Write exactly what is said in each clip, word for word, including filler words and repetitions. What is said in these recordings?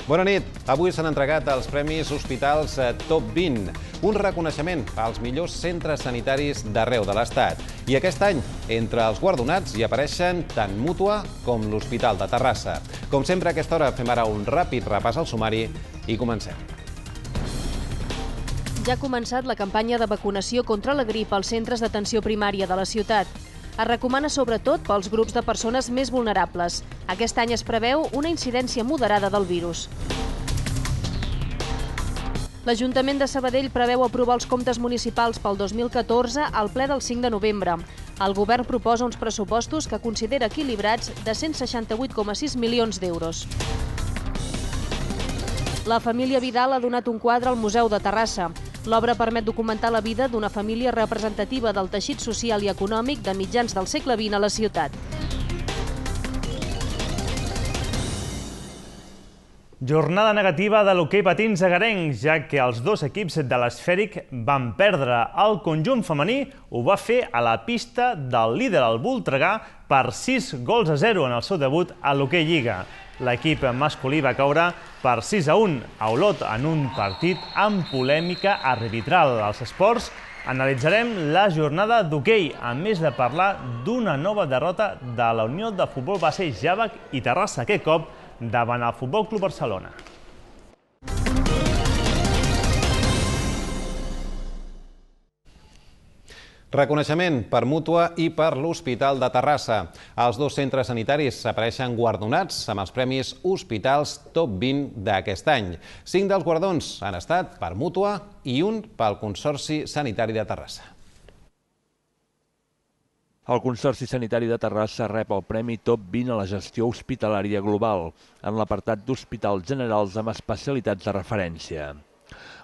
Bona nit. Avui s'han entregat els Premis Hospitals Top vint, un reconeixement als millors centres sanitaris d'arreu de l'Estat. I aquest any, entre els guardonats hi apareixen tant Mútua com l'Hospital de Terrassa. Com sempre, a aquesta hora fem ara un ràpid repàs al sumari i comencem. Ja ha començat la campanya de vacunació contra la grip als centres d'atenció primària de la ciutat. Es recomana sobretot pels grups de persones més vulnerables. Aquest any es preveu una incidència moderada del virus. L'Ajuntament de Sabadell preveu aprovar els comptes municipals pel dos mil catorze al ple del cinc de novembre. El govern proposa uns pressupostos que considera equilibrats de cent seixanta-vuit coma sis milions d'euros. La família Vidal ha donat un quadre al Museu de Terrassa. L'obra permet documentar la vida d'una família representativa del teixit social i econòmic de mitjans del segle vint a la ciutat. Jornada negativa de l'hoquei patins agarenc, ja que els dos equips de l'Esfèric van perdre. El conjunt femení ho va fer a la pista del líder, el Voltregà, per sis gols a zero en el seu debut a l'hoquei Lliga. L'equip masculí va caure per sis a un a Olot en un partit amb polèmica arbitral. Als esports analitzarem la jornada d'hoquei, a més de parlar d'una nova derrota de la Unió de Futbol Base Jàvec i Terrassa, aquest cop davant el Futbol Club Barcelona. Reconeixement per Mútua i per l'Hospital de Terrassa. Els dos centres sanitaris apareixen guardonats amb els Premis Hospitals Top vint d'aquest any. Cinc dels guardons han estat per Mútua i un pel Consorci Sanitari de Terrassa. El Consorci Sanitari de Terrassa rep el Premi Top vint a la gestió hospitalària global, en l'apartat d'hospitals generals amb especialitats de referència.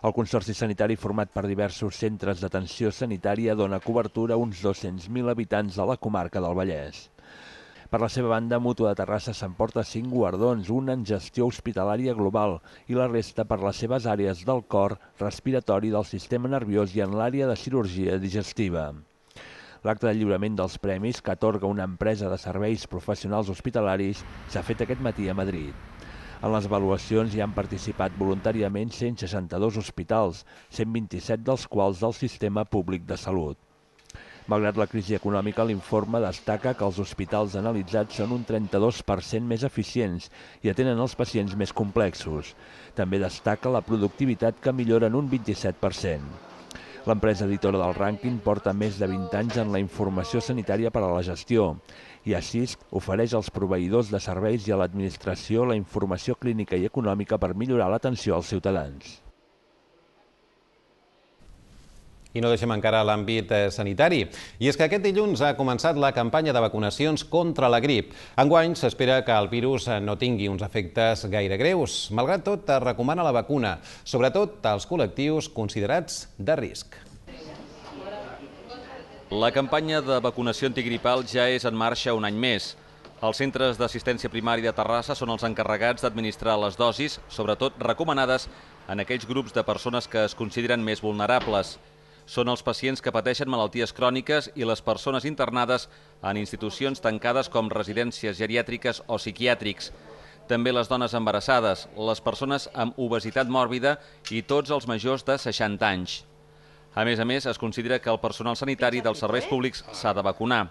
El Consorci Sanitari, format per diversos centres d'atenció sanitària, dona cobertura a uns dos-cents mil habitants de la comarca del Vallès. Per la seva banda, Mútua de Terrassa s'emporta cinc guardons, un en gestió hospitalària global i la resta per les seves àrees del cor, respiratori, del sistema nerviós i en l'àrea de cirurgia digestiva. L'acte de lliurament dels premis, que atorga una empresa de serveis professionals hospitalaris, s'ha fet aquest matí a Madrid. En les avaluacions hi han participat voluntàriament cent seixanta-dos hospitals, cent vint-i-set dels quals del sistema públic de salut. Malgrat la crisi econòmica, l'informe destaca que els hospitals analitzats són un trenta-dos per cent més eficients i atenen els pacients més complexos. També destaca la productivitat, que millora en un vint-i-set per cent. L'empresa editora del rànquing porta més de vint anys en la informació sanitària per a la gestió i així ofereix als proveïdors de serveis i a l'administració la informació clínica i econòmica per millorar l'atenció als ciutadans. I no deixem encara l'àmbit sanitari. I és que aquest dilluns ha començat la campanya de vacunacions contra la grip. Enguany s'espera que el virus no tingui uns efectes gaire greus. Malgrat tot, es recomana la vacuna, sobretot als col·lectius considerats de risc. La campanya de vacunació antigripal ja és en marxa un any més. Els centres d'assistència primària de Terrassa són els encarregats d'administrar les dosis, sobretot recomanades en aquells grups de persones que es consideren més vulnerables. Són els pacients que pateixen malalties cròniques i les persones internades en institucions tancades com residències geriàtriques o psiquiàtrics. També les dones embarassades, les persones amb obesitat mòrbida i tots els majors de seixanta anys. A més a més, es considera que el personal sanitari dels serveis públics s'ha de vacunar.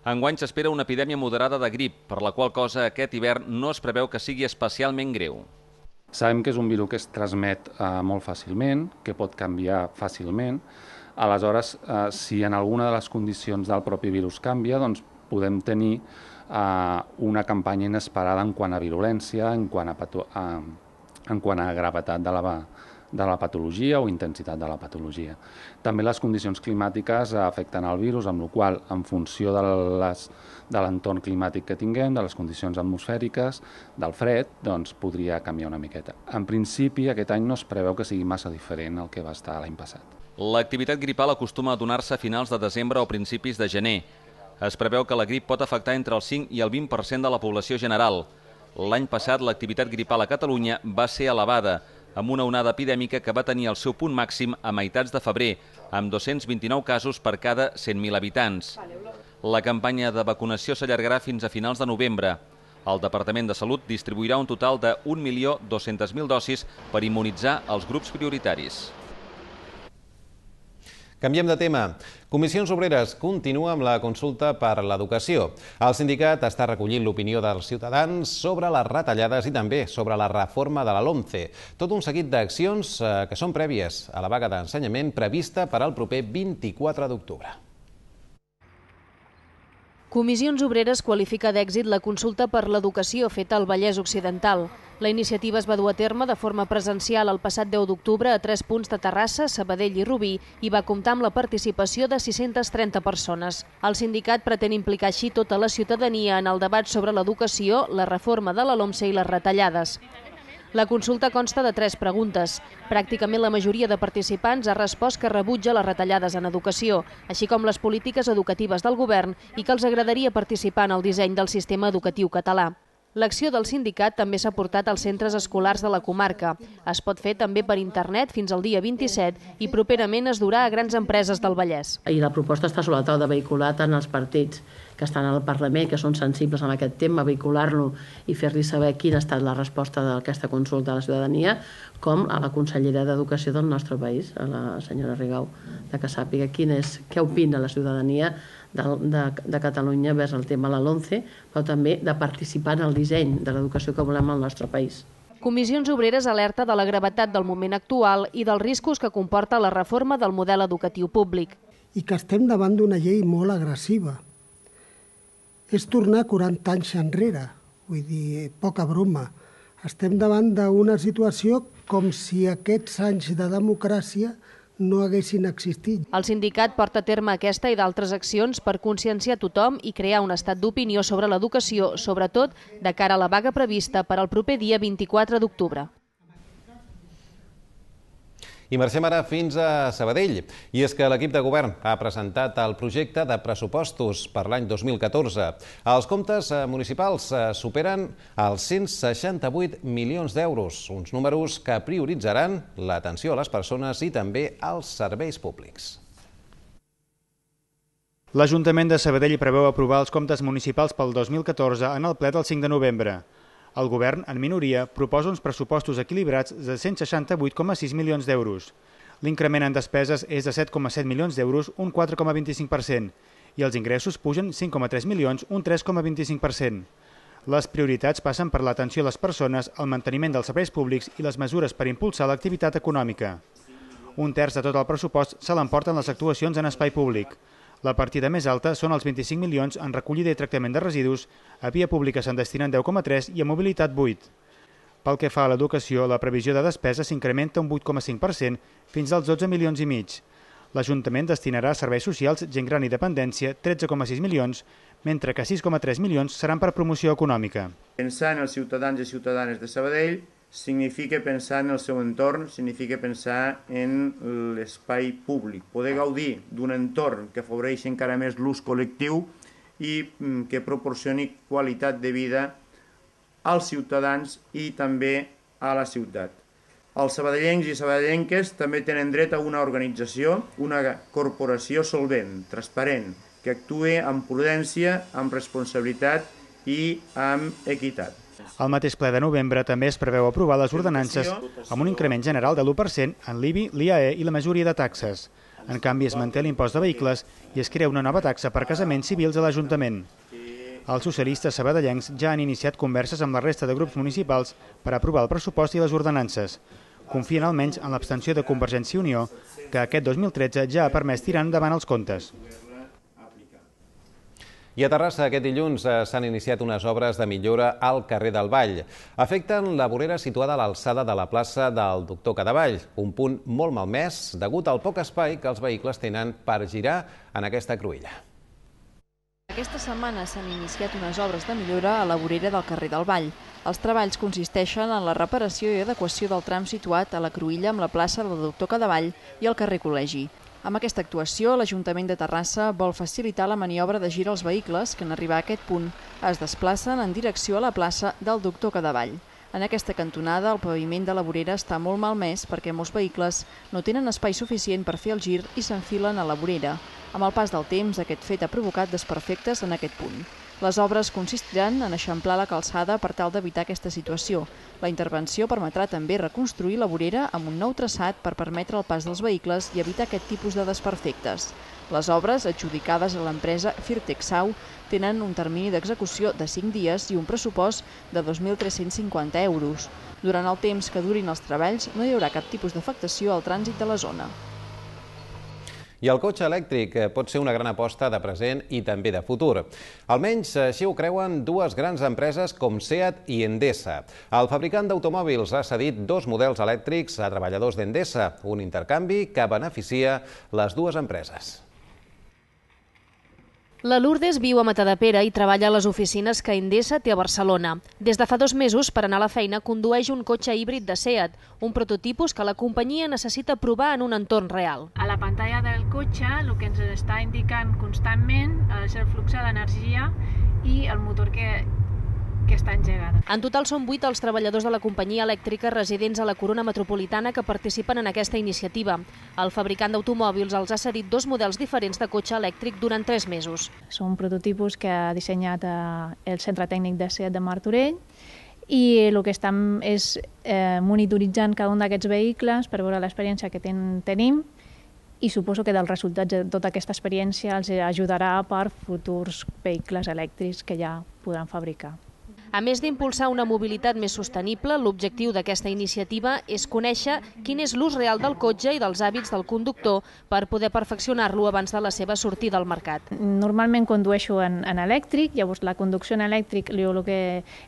Enguany s'espera una epidèmia moderada de grip, per la qual cosa aquest hivern no es preveu que sigui especialment greu. Sabem que és un virus que es transmet eh, molt fàcilment, que pot canviar fàcilment. Aleshores, eh, si en alguna de les condicions del propi virus canvia, doncs podem tenir eh, una campanya inesperada en quant a virulència, en quant a, pato eh, en quant a gravetat de la, de la patologia o intensitat de la patologia. També les condicions climàtiques afecten el virus, amb la qual cosa, en funció de les de l'entorn climàtic que tinguem, de les condicions atmosfèriques, del fred, doncs podria canviar una miqueta. En principi, aquest any no es preveu que sigui massa diferent al que va estar l'any passat. L'activitat gripal acostuma a donar-se a finals de desembre o principis de gener. Es preveu que la grip pot afectar entre el cinc i el vint per cent de la població general. L'any passat, l'activitat gripal a Catalunya va ser elevada, amb una onada epidèmica que va tenir el seu punt màxim a meitats de febrer, amb dos-cents vint-i-nou casos per cada cent mil habitants. La campanya de vacunació s'allargarà fins a finals de novembre. El Departament de Salut distribuirà un total de un milió dos-cents mil dosis per immunitzar els grups prioritaris. Canviem de tema. Comissions Obreres continua amb la consulta per l'educació. El sindicat està recollint l'opinió dels ciutadans sobre les retallades i també sobre la reforma de la LOMCE. Tot un seguit d'accions que són prèvies a la vaga d'ensenyament prevista per al proper vint-i-quatre d'octubre. Comissions Obreres qualifica d'èxit la consulta per l'educació feta al Vallès Occidental. La iniciativa es va dur a terme de forma presencial el passat deu d'octubre a tres punts de Terrassa, Sabadell i Rubí i va comptar amb la participació de sis-centes trenta persones. El sindicat pretén implicar així tota la ciutadania en el debat sobre l'educació, la reforma de la LOMCE i les retallades. La consulta consta de tres preguntes. Pràcticament la majoria de participants ha respost que rebutja les retallades en educació, així com les polítiques educatives del govern i que els agradaria participar en el disseny del sistema educatiu català. L'acció del sindicat també s'ha portat als centres escolars de la comarca. Es pot fer també per internet fins al dia vint-i-set i properament es durà a grans empreses del Vallès. I la proposta està sobre la taula de vehicular tant els partits que estan al Parlament, que són sensibles amb aquest tema, vehicular-lo i fer-li saber quina ha estat la resposta d'aquesta consulta a la ciutadania, com a la consellera d'Educació del nostre país, a la senyora Rigau, de que sàpiga quin és, què opina la ciutadania de, de, de Catalunya vers el tema de la LOMCE, però també de participar en el disseny de l'educació que volem al nostre país. Comissions Obreres alerta de la gravetat del moment actual i dels riscos que comporta la reforma del model educatiu públic. I que estem davant d'una llei molt agressiva. És tornar quaranta anys enrere, vull dir, poca broma. Estem davant d'una situació com si aquests anys de democràcia no haguessin existit. El sindicat porta a terme aquesta i d'altres accions per conscienciar tothom i crear un estat d'opinió sobre l'educació, sobretot de cara a la vaga prevista per al proper dia vint-i-quatre d'octubre. I marxem ara fins a Sabadell. I és que l'equip de govern ha presentat el projecte de pressupostos per l'any dos mil catorze. Els comptes municipals superen els cent seixanta-vuit milions d'euros, uns números que prioritzaran l'atenció a les persones i també als serveis públics. L'Ajuntament de Sabadell preveu aprovar els comptes municipals pel dos mil catorze en el ple del cinc de novembre. El govern, en minoria, proposa uns pressupostos equilibrats de cent seixanta-vuit coma sis milions d'euros. L'increment en despeses és de set coma set milions d'euros, un quatre coma vint-i-cinc per cent, i els ingressos pugen cinc coma tres milions, un tres coma vint-i-cinc per cent. Les prioritats passen per l'atenció a les persones, el manteniment dels serveis públics i les mesures per impulsar l'activitat econòmica. Un terç de tot el pressupost se l'emporten les actuacions en espai públic. La partida més alta són els vint-i-cinc milions en recollida i tractament de residus, a via pública se'n destinen deu coma tres i a mobilitat vuit. Pel que fa a l'educació, la previsió de despesa s'incrementa un vuit coma cinc per cent fins als dotze milions i mig. L'Ajuntament destinarà a serveis socials, gent gran i dependència tretze coma sis milions, mentre que sis coma tres milions seran per promoció econòmica. Pensar en els ciutadans i ciutadanes de Sabadell significa pensar en el seu entorn, significa pensar en l'espai públic, poder gaudir d'un entorn que afavoreixi encara més l'ús col·lectiu i que proporcioni qualitat de vida als ciutadans i també a la ciutat. Els sabadellencs i sabadellenques també tenen dret a una organització, una corporació solvent, transparent, que actuï amb prudència, amb responsabilitat i amb equitat. Al mateix ple de novembre també es preveu aprovar les ordenances amb un increment general de l'u per cent en l'I B I, l'I A E i la majoria de taxes. En canvi, es manté l'impost de vehicles i es crea una nova taxa per casaments civils a l'Ajuntament. Els socialistes sabadellencs ja han iniciat converses amb la resta de grups municipals per aprovar el pressupost i les ordenances. Confien almenys en l'abstenció de Convergència i Unió, que aquest dos mil tretze ja ha permès tirar endavant els comptes. I a Terrassa aquest dilluns s'han iniciat unes obres de millora al carrer del Vall. Afecten la vorera situada a l'alçada de la plaça del Doctor Cadevall, un punt molt malmès degut al poc espai que els vehicles tenen per girar en aquesta cruïlla. Aquesta setmana s'han iniciat unes obres de millora a la vorera del carrer del Vall. Els treballs consisteixen en la reparació i adequació del tram situat a la cruïlla amb la plaça del Doctor Cadevall i el carrer Col·legi. Amb aquesta actuació, l'Ajuntament de Terrassa vol facilitar la maniobra de gir als vehicles que en arribar a aquest punt es desplacen en direcció a la plaça del Doctor Cadevall. En aquesta cantonada, el paviment de la vorera està molt malmès perquè molts vehicles no tenen espai suficient per fer el gir i s'enfilen a la vorera. Amb el pas del temps, aquest fet ha provocat desperfectes en aquest punt. Les obres consistiran en eixamplar la calçada per tal d'evitar aquesta situació. La intervenció permetrà també reconstruir la vorera amb un nou traçat per permetre el pas dels vehicles i evitar aquest tipus de desperfectes. Les obres, adjudicades a l'empresa Firtexau, tenen un termini d'execució de cinc dies i un pressupost de dos mil tres-cents cinquanta euros. Durant el temps que durin els treballs no hi haurà cap tipus d'afectació al trànsit de la zona. I el cotxe elèctric pot ser una gran aposta de present i també de futur. Almenys així ho creuen dues grans empreses com SEAT i Endesa. El fabricant d'automòbils ha cedit dos models elèctrics a treballadors d'Endesa, un intercanvi que beneficia les dues empreses. La Lourdes viu a Matadepera i treballa a les oficines que Endesa té a Barcelona. Des de fa dos mesos, per anar a la feina, condueix un cotxe híbrid de SEAT, un prototipus que la companyia necessita provar en un entorn real. A la pantalla del cotxe el que ens està indicant constantment és el flux d'energia i el motor que, que està engegat. En total són vuit els treballadors de la companyia elèctrica residents a la Corona Metropolitana que participen en aquesta iniciativa. El fabricant d'automòbils els ha cedit dos models diferents de cotxe elèctric durant tres mesos. Són prototipus que ha dissenyat el Centre Tècnic de SEAT de Martorell i el que estem és eh, monitoritzant cada un d'aquests vehicles per veure l'experiència que ten, tenim i suposo que dels resultats de tota aquesta experiència els ajudarà per futurs vehicles elèctrics que ja podran fabricar. A més d'impulsar una mobilitat més sostenible, l'objectiu d'aquesta iniciativa és conèixer quin és l'ús real del cotxe i dels hàbits del conductor per poder perfeccionar-lo abans de la seva sortida al mercat. Normalment condueixo en, en elèctric, llavors la conducció en elèctric jo el que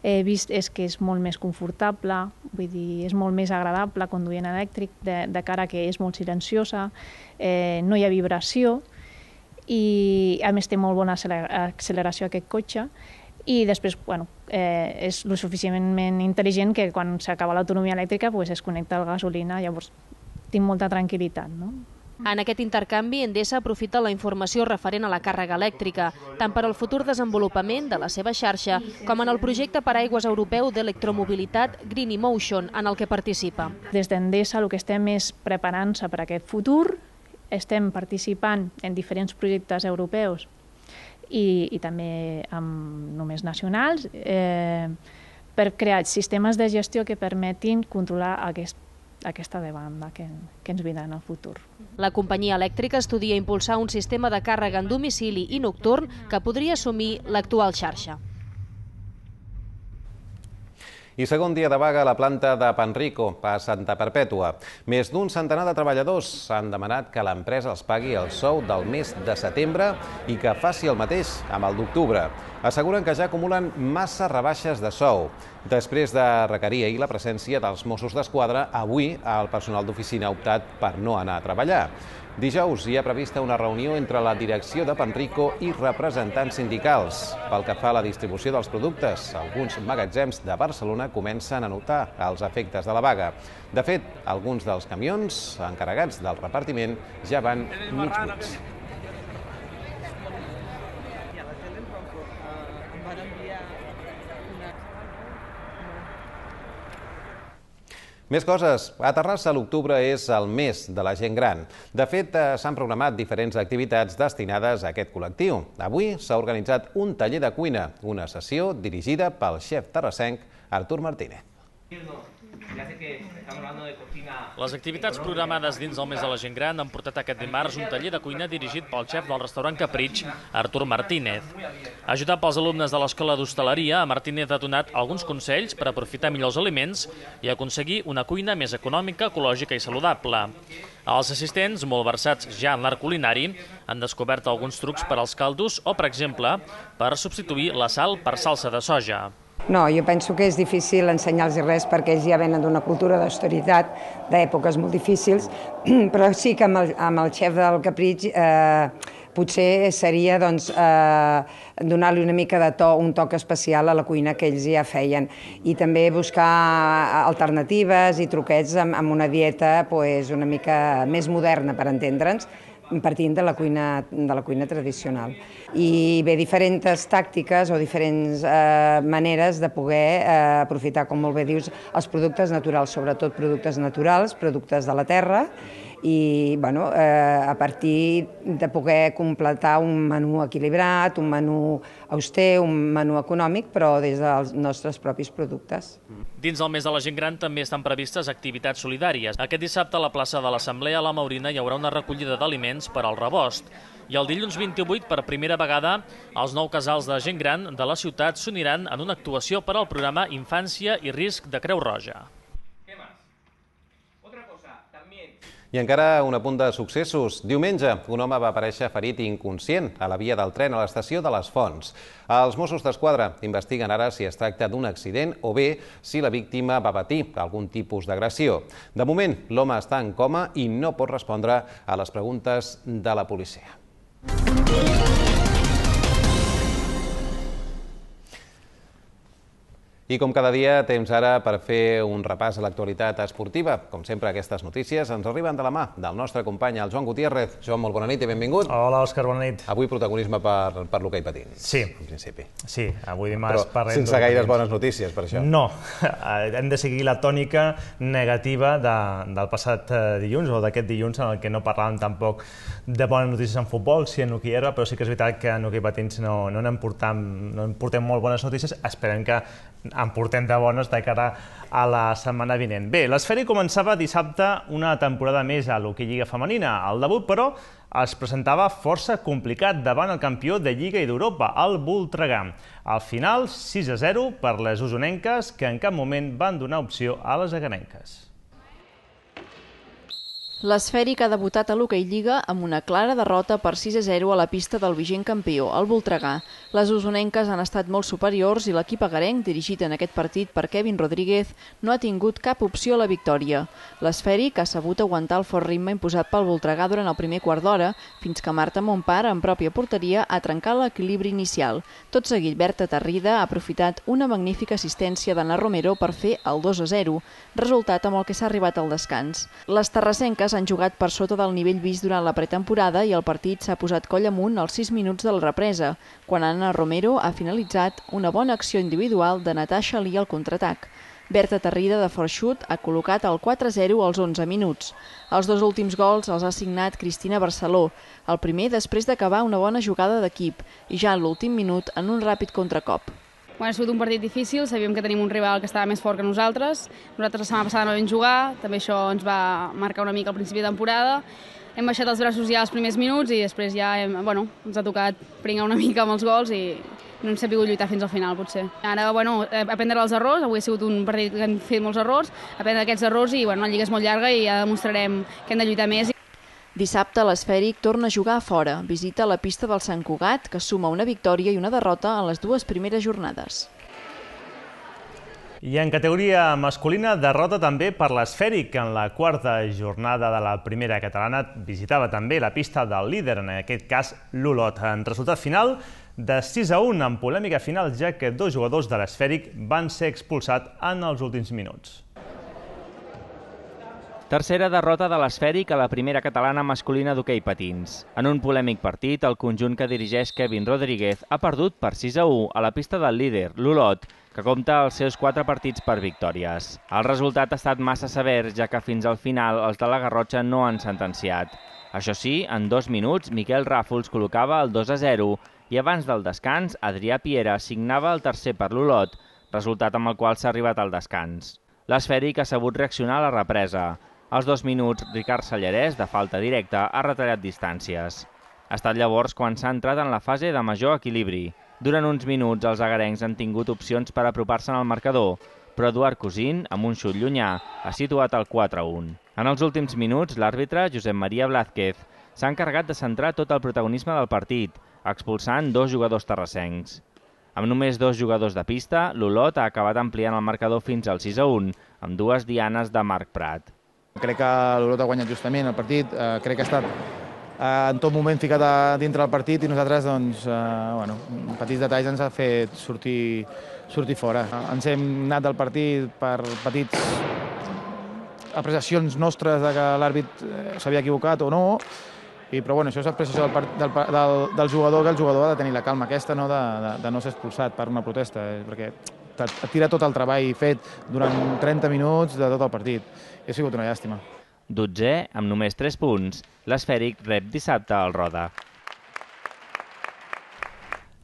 he vist és que és molt més confortable, vull dir, és molt més agradable conduir en elèctric, de, de cara que és molt silenciosa, eh, no hi ha vibració i a més té molt bona acceleració aquest cotxe. I després bueno, eh, és lo suficientment intel·ligent que quan s'acaba l'autonomia elèctrica pues, es connecta a la gasolina, llavors tinc molta tranquil·litat. No? En aquest intercanvi, Endesa aprofita la informació referent a la càrrega elèctrica, tant per al futur desenvolupament de la seva xarxa com en el projecte paraigües europeu d'electromobilitat Green Emotion, en el que participa. Des d'Endesa el que estem és preparant-se per a aquest futur, estem participant en diferents projectes europeus I, i també amb només nacionals, eh, per crear sistemes de gestió que permetin controlar aquest, aquesta demanda que, que ens vindrà en el futur. La companyia elèctrica estudia impulsar un sistema de càrrega en domicili i nocturn que podria assumir l'actual xarxa. I segon dia de vaga a la planta de Panrico, a Santa Perpètua. Més d'un centenar de treballadors han demanat que l'empresa els pagui el sou del mes de setembre i que faci el mateix amb el d'octubre. Asseguren que ja acumulen massa rebaixes de sou. Després de requerir ahir la presència dels Mossos d'Esquadra, avui el personal d'oficina ha optat per no anar a treballar. Dijous hi ha prevista una reunió entre la direcció de Panrico i representants sindicals. Pel que fa a la distribució dels productes, alguns magatzems de Barcelona comencen a notar els efectes de la vaga. De fet, alguns dels camions encarregats del repartiment ja van mig buits. Més coses. A Terrassa l'octubre és el mes de la gent gran. De fet, s'han programat diferents activitats destinades a aquest col·lectiu. Avui s'ha organitzat un taller de cuina, una sessió dirigida pel xef terrassenc Artur Martínez. Les activitats programades dins del mes de la gent gran han portat aquest dimarts un taller de cuina dirigit pel xef del restaurant Capritx, Artur Martínez. Ajudat pels alumnes de l'Escola d'Hostaleria, Martínez ha donat alguns consells per aprofitar millor els aliments i aconseguir una cuina més econòmica, ecològica i saludable. Els assistents, molt versats ja en l'art culinari, han descobert alguns trucs per als caldos o, per exemple, per substituir la sal per salsa de soja. No, jo penso que és difícil ensenyar-los res perquè ells ja venen d'una cultura d'austeritat, d'èpoques molt difícils, però sí que amb el, amb el xef del Capritx eh, potser seria doncs, eh, donar-li una mica de to, un toc especial a la cuina que ells ja feien i també buscar alternatives i truquets amb, amb una dieta pues, una mica més moderna, per entendre'ns, partint de la cuina, de la cuina tradicional. I bé, diferents tàctiques o diferents eh, maneres de poder eh, aprofitar, com molt bé dius, els productes naturals, sobretot productes naturals, productes de la terra, i bueno, eh, a partir de poder completar un menú equilibrat, un menú auster, un menú econòmic, però des dels nostres propis productes. Dins del mes de la gent gran també estan previstes activitats solidàries. Aquest dissabte a la plaça de l'Assemblea a la Maurina hi haurà una recollida d'aliments per al rebost. I el dilluns vint-i-vuit, per primera vegada, els nou casals de gent gran de la ciutat s'uniran en una actuació per al programa Infància i Risc de Creu Roja. I encara un apunt de successos. Diumenge, un home va aparèixer ferit i inconscient a la via del tren a l'estació de les Fonts. Els Mossos d'Esquadra investiguen ara si es tracta d'un accident o bé si la víctima va patir algun tipus d'agressió. De moment, l'home està en coma i no pot respondre a les preguntes de la policia. I com cada dia, temps ara per fer un repàs a l'actualitat esportiva. Com sempre, aquestes notícies ens arriben de la mà del nostre company, el Joan Gutiérrez. Joan, molt bona nit i benvingut. Hola, Òscar, bona nit. Avui protagonisme per, per l'hoquei patins. Sí. En principi. Sí, avui dimarts Però parlem... sense gaires bones notícies, per això. No, hem de seguir la tònica negativa de, del passat dilluns, o d'aquest dilluns, en el que no parlàvem tampoc de bones notícies en futbol, sí en hoquei herba, però sí que és veritat que en hoquei patins no, no en portem, no en portem molt bones notícies. Esperem que en portem de bones de cara a la setmana vinent. Bé, l'Esfèric començava dissabte una temporada més a l'hoquei Lliga femenina. El debut, però, es presentava força complicat davant el campió de Lliga i d'Europa, el Voltregà. Al final, sis a zero per les usonenques, que en cap moment van donar opció a les aganenques. L'Esfèric ha debutat a l'Hoquei Lliga amb una clara derrota per sis a zero a la pista del vigent campió, el Voltregà. Les usonenques han estat molt superiors i l'equip agarenc, dirigit en aquest partit per Kevin Rodríguez, no ha tingut cap opció a la victòria. L'Esfèric ha sabut aguantar el fort ritme imposat pel Voltregà durant el primer quart d'hora, fins que Marta Montpar, en pròpia porteria, ha trencat l'equilibri inicial. Tot seguit, Berta Tarrida ha aprofitat una magnífica assistència d'Anna Romero per fer el dos a zero, resultat amb el que s'ha arribat al descans. Les terrassenques han jugat per sota del nivell vist durant la pretemporada i el partit s'ha posat coll amunt als sis minuts de la represa, quan Anna Romero ha finalitzat una bona acció individual de Natasha Lee al contraatac. Berta Tarrida, de fort xut, ha col·locat el quatre a zero als onze minuts. Els dos últims gols els ha signat Cristina Barceló, el primer després d'acabar una bona jugada d'equip i ja en l'últim minut en un ràpid contracop. Bueno, ha sigut un partit difícil, sabíem que tenim un rival que estava més fort que nosaltres. Nosaltres la setmana passada no vam jugar, també això ens va marcar una mica al principi de temporada. Hem baixat els braços ja als primers minuts i després ja hem, bueno, ens ha tocat pringar una mica amb els gols i no hem sabut lluitar fins al final, potser. Ara, bueno, aprendre els errors, avui ha sigut un partit que hem fet molts errors, aprendre aquests errors i bueno, la lliga és molt llarga i ja demostrarem que hem de lluitar més. Dissabte, l'Esfèric torna a jugar a fora. Visita la pista del Sant Cugat, que suma una victòria i una derrota en les dues primeres jornades. I en categoria masculina, derrota també per l'Esfèric, que en la quarta jornada de la primera catalana visitava també la pista del líder, en aquest cas l'Olot. En resultat final de sis a un, en polèmica final, ja que dos jugadors de l'Esfèric van ser expulsats en els últims minuts. Tercera derrota de l'Esfèric a la primera catalana masculina d'hoquei patins. En un polèmic partit, el conjunt que dirigeix Kevin Rodríguez ha perdut per sis a u a la pista del líder, l'Olot, que compta els seus quatre partits per victòries. El resultat ha estat massa sever, ja que fins al final els de la Garrotxa no han sentenciat. Això sí, en dos minuts, Miquel Ràfols col·locava el dos a zero i abans del descans, Adrià Piera signava el tercer per l'Olot, resultat amb el qual s'ha arribat al descans. L'Esfèric ha sabut reaccionar a la represa. Als dos minuts, Ricard Sallarès, de falta directa, ha retallat distàncies. Ha estat llavors quan s'ha entrat en la fase de major equilibri. Durant uns minuts, els agarencs han tingut opcions per apropar-se al marcador, però Eduard Cosín, amb un xut llunyà, ha situat el quatre a un. En els últims minuts, l'àrbitre, Josep Maria Blázquez, s'ha encarregat de centrar tot el protagonisme del partit, expulsant dos jugadors terrassencs. Amb només dos jugadors de pista, l'Olot ha acabat ampliant el marcador fins al sis a un, amb dues dianes de Marc Prat. Crec que l'Olot ha guanyat justament el partit, eh, crec que ha estat eh, en tot moment ficat a dintre del partit i nosaltres, doncs, eh, bueno, petits detalls ens ha fet sortir, sortir fora. Ens hem anat del partit per petits apreciacions nostres de que l'àrbit s'havia equivocat o no I, però bueno, això és l'expressió del, del, del, del jugador, que el jugador ha de tenir la calma aquesta, no de, de, de no ser expulsat per una protesta, eh, perquè et tira tot el treball fet durant trenta minuts de tot el partit. I ha sigut una llàstima. Dotzè, amb només tres punts, l'Esfèric rep dissabte al Roda.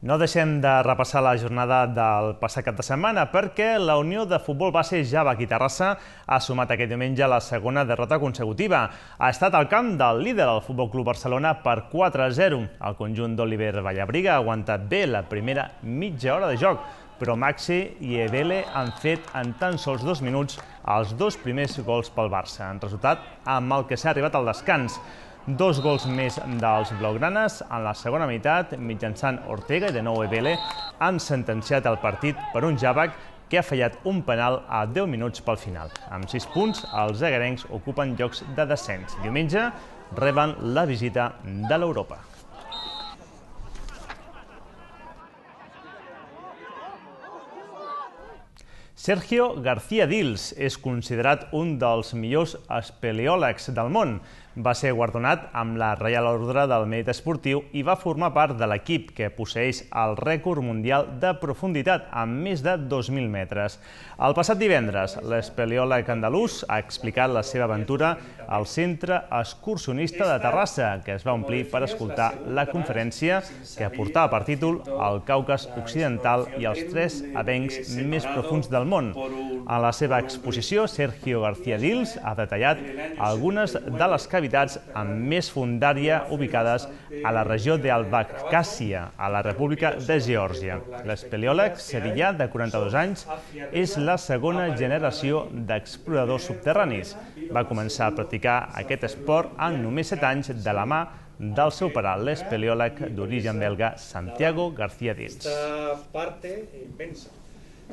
No deixem de repassar la jornada del passat cap de setmana perquè la Unió de Futbol Base Javac i Terrassa ha sumat aquest diumenge la segona derrota consecutiva. Ha estat al camp del líder del Futbol Club Barcelona per quatre a zero. El conjunt d'Oliver Vallabriga ha aguantat bé la primera mitja hora de joc, però Maxi i Ebele han fet en tan sols dos minuts els dos primers gols pel Barça. En resultat, amb el que s'ha arribat al descans. Dos gols més dels blaugranes en la segona meitat, mitjançant Ortega i de nou Ebele, han sentenciat el partit per un Javac que ha fallat un penal a deu minuts pel final. Amb sis punts, els egarencs ocupen llocs de descens. Diumenge reben la visita de l'Europa. Sergio García Dils és considerat un dels millors espeleòlegs del món. Va ser guardonat amb la Reial Ordre del Mèrit Esportiu i va formar part de l'equip que posseeix el rècord mundial de profunditat amb més de dos mil metres. El passat divendres, l'espeleòleg andalús ha explicat la seva aventura al Centre Excursionista de Terrassa, que es va omplir per escoltar la conferència que portava per títol El Caucas Occidental i els tres avencs més profuns del món. A la seva exposició, Sergio García Dils ha detallat algunes de les cavitats amb més fondària ubicades a la regió d'Abkhàzia, a la República de Geòrgia. L'espeleòleg sevillà de quaranta-dos anys és la segona generació d'exploradors subterranis. Va començar a practicar aquest esport en només set anys de la mà del seu pare, l'espeleòleg d'origen belga Santiago García Dils. Esta parte inmensa.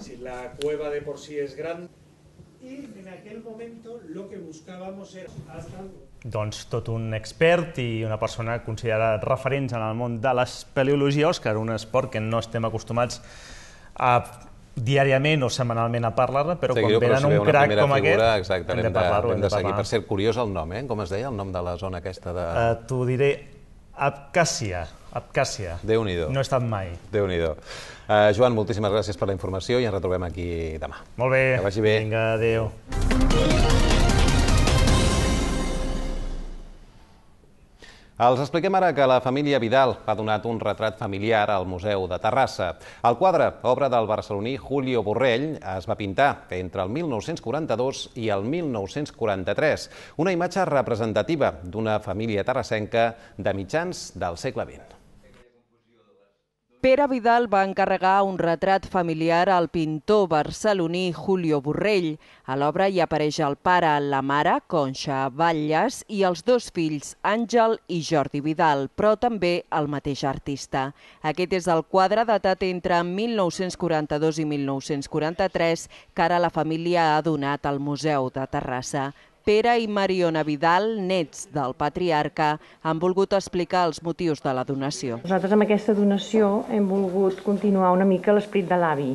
Si la cueva de por sí es grande y en aquel momento lo que buscábamos era hasta Doncs tot un expert i una persona considerada referents en el món de l'espeleologia, Òscar, un esport que no estem acostumats a diàriament o setmanalment a parlar-ne, però quan venen un crac com aquest, hem de parlar-ho, hem de parlar. Per cert, curiós el nom, eh? Com es deia el nom de la zona aquesta de... T'ho diré, Abkhàzia. Abkhàzia. Déu-n'hi-do. No he estat mai. Déu-n'hi-do. Joan, moltíssimes gràcies per la informació i ens retrobem aquí demà. Molt bé. Que vagi bé. Vinga, adéu. Els expliquem ara que la família Vidal ha donat un retrat familiar al Museu de Terrassa. El quadre, obra del barceloní Julio Borrell, es va pintar entre el mil nou-cents quaranta-dos i el mil nou-cents quaranta-tres, una imatge representativa d'una família terrassenca de mitjans del segle vint. Pere Vidal va encarregar un retrat familiar al pintor barceloní Julio Borrell. A l'obra hi apareix el pare, la mare, Conxa Batlles, i els dos fills, Àngel i Jordi Vidal, però també el mateix artista. Aquest és el quadre datat entre mil nou-cents quaranta-dos i mil nou-cents quaranta-tres que ara la família ha donat al Museu de Terrassa. Pere i Mariona Vidal, nets del patriarca, han volgut explicar els motius de la donació. Nosaltres amb aquesta donació hem volgut continuar una mica l'esperit de l'avi,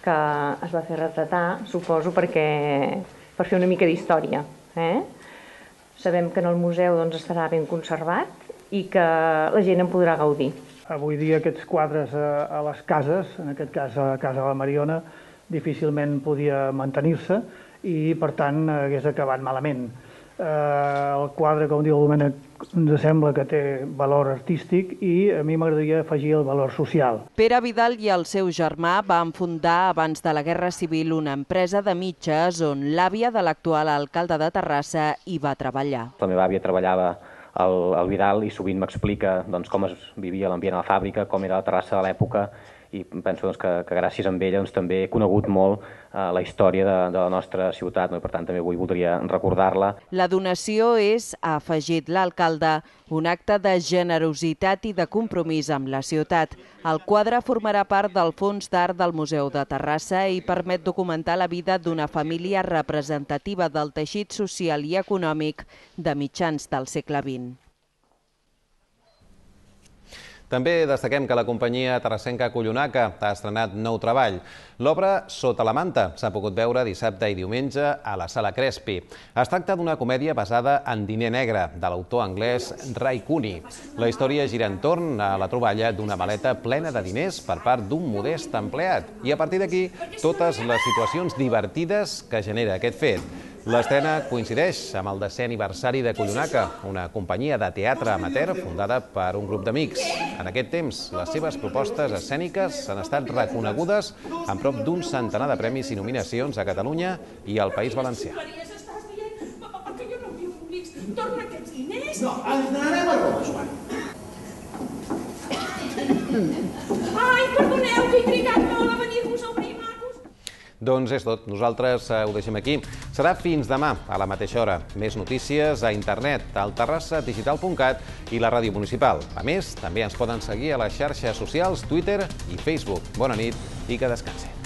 que es va fer retratar, suposo, perquè per fer una mica d'història. Eh? Sabem que en el museu doncs, estarà ben conservat i que la gent en podrà gaudir. Avui dia aquests quadres a les cases, en aquest cas a casa de la Mariona, difícilment podia mantenir-se, i, per tant, hagués acabat malament. El quadre, com diu el Domènec, ens sembla que té valor artístic i a mi m'agradaria afegir el valor social. Pere Vidal i el seu germà van fundar abans de la Guerra Civil una empresa de mitges on l'àvia de l'actual alcalde de Terrassa hi va treballar. La meva àvia treballava al Vidal i sovint m'explica com es vivia l'ambient a la fàbrica, com era la Terrassa de l'època, i penso que gràcies a ella també he conegut molt la història de la nostra ciutat, i per tant també avui voldria recordar-la. La donació és, ha afegit l'alcalde, un acte de generositat i de compromís amb la ciutat. El quadre formarà part del Fons d'Art del Museu de Terrassa i permet documentar la vida d'una família representativa del teixit social i econòmic de mitjans del segle vint. També destaquem que la companyia terrassenca Collonaka ha estrenat nou treball. L'obra Sota la manta s'ha pogut veure dissabte i diumenge a la Sala Crespi. Es tracta d'una comèdia basada en Diner negre, de l'autor anglès Ray Cooney. La història gira entorn a la troballa d'una maleta plena de diners per part d'un modest empleat. I a partir d'aquí, totes les situacions divertides que genera aquest fet. L'estrena coincideix amb el desè aniversari de Collonaka, una companyia de teatre amateur fundada per un grup d'amics. En aquest temps, les seves propostes escèniques han estat reconegudes amb prop d'un centenar de premis i nominacions a Catalunya i al País Valencià. Perquè jo no viu públics. Torna aquests diners. No, els donarem a tots, Joan. Ai, perdoneu, que he trigat molt a venir-vos a obrir, macos. Doncs és tot. Nosaltres ho deixem aquí. Serà fins demà, a la mateixa hora. Més notícies a internet, al terrassa digital punt cat i la ràdio municipal. A més, també ens poden seguir a les xarxes socials, Twitter i Facebook. Bona nit i que descansin.